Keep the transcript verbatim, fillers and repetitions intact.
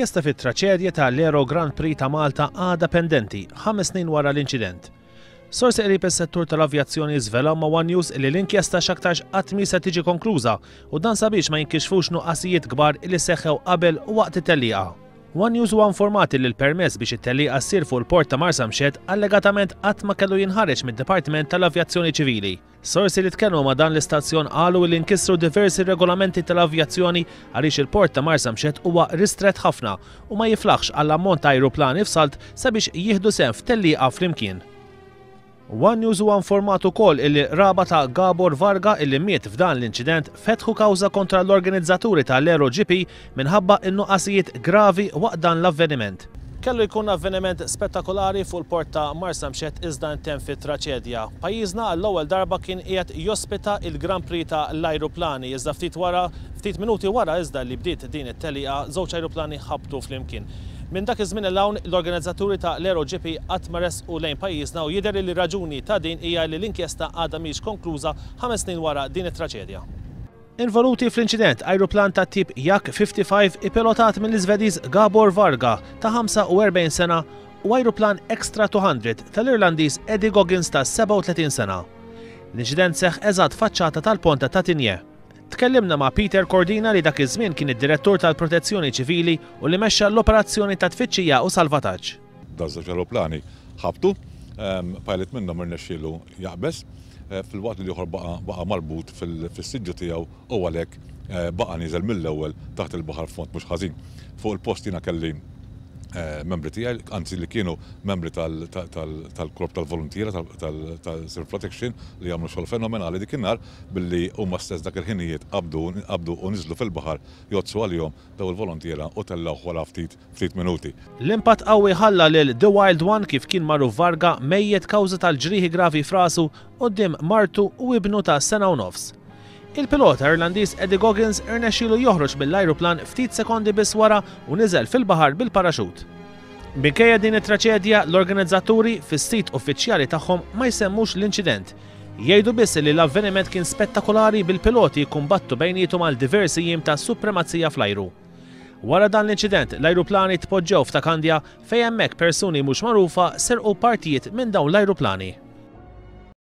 L-inkjesta fit-traċedja ta' l-Aero Grand Prix ta' Malta għadha pendenti ħames snin wara l-inċident. Sorsi qrib is-settur tal-avjazzjoni żvelaw ma' One News li l-inkjesta x'aktarx qatt mhi se tiġi konkluża u dan sabiex ma jinkixfux nuqqasijiet kbar li seħħew qabel u waqt it-tellieqa. One News huwa informati li l-permess biex it-tellieqa ssir fuq il-port ta' Marsamxett allegatament qatt ma kellu jinħareġ mid-Dipartiment tal-Avjazzjoni Ċivili. Sorsi li tkellmu ma' dan l-istazzjon qalu li nkisru diversi regolamenti tal-avjazzjoni għaliex il-port ta' Marsamxett huwa ristret ħafna u ma jiflaħx għall ammont ta' ajruplani f'salt sabiex jieħdu sehem f'tellieqa flimkien. One News huwa informat ukoll illi qraba ta' Gabor Varga, illi miet f'dan l-inċident, fetħu kawża kontra l-organizzaturi tal-Aero G P minħabba in-nuqqasijiet gravi waqt dan l-avveniment. Kellu jkun avveniment spettakolari fuq il-port ta' Marsamxett iżda intemm fi traċedja. Pajjiżna għall-ewwel darba kien qiegħed jospita il-Grand Prix ta' l-ajruplani, iżda ftit wara, ftit minuti wara iżda li bdiet din it-tellieqa, żewġ ajruplani ħabtu flimkien. Minn dak iż-żmien 'l hawn, l-organizzaturi ta' l-Aero G P qatt ma resqu lejn pajjiżna u jidher li raġuni ta' din hija li l-inkjesta għadha mhix konkluża ħames snin wara din it-traċedja. Involuti fl-inċident ajruplan ta' tip Yak ħamsa u ħamsin ipilotat mill-Iżvediż Gabor Varga ta' ħamsa u erbgħin sena u ajruplan Extra mitejn tal-Irlandiż Eddie Goggins ta' sebgħa u tletin sena. L-inċident seħ eżatt faċċata tal-ponta ta' Tigné. Tkellimna ma' Peter Cordina, li dak iż-żmien kien id-direttur tal-Protezzjoni Ċivili u li mexxa l-operazzjoni ta' tfittxija u salvataġġ. Daż-żewġ aeroplani ħabtu, pilot minnhom irnexxielu jaqbeż, eh, filwaqt li l-ieħor baqa' marbut fis-siġġu tiegħu u għalhekk eh, baqa' niżel mill-ewwel taħt il-baħar fond mhux ħażin. Fuq il-post jiena kelli eh, membri tiegħi, anzi li kienu membri tal-korp tal-volontiera tal-Civil Protection, li għamlu xogħol fenomenali dik in-nhar billi huma stess dak il-ħinijiet qabdu u niżlu fil-baħar jgħoddsu għalihom daw il-volontiera u tellgħu wara ftit ftit minuti. L-impatt qawwi ħalla lil The Wild One, kif kien magħruf Varga, mejjet kawża tal-ġrieħi gravi f'rasu quddiem martu u ibnu ta' sena u nofs. Il-pilota Irlandiż Eddie Goggins irnexxielu joħroġ mill-ajruplan ftit sekondi biss wara u niżel fil-baħar bil-paraxut. Minkejja din it-traċedja, l-organizzaturi fis-sit uffiċjali tagħhom ma jsemmux l-inċident. Jgħidu biss li l-avveniment kien spettakolari, bil-piloti jikkumbattu bejnietom għal diversi jiem ta' supremazija fl-ajru. Wara dan l-inċident, l-ajruplani tpoġġew f'Ta' Kandja, fejn hemmhekk persuni mhux magħrufa serqu partijiet minn dawn l-ajruplani.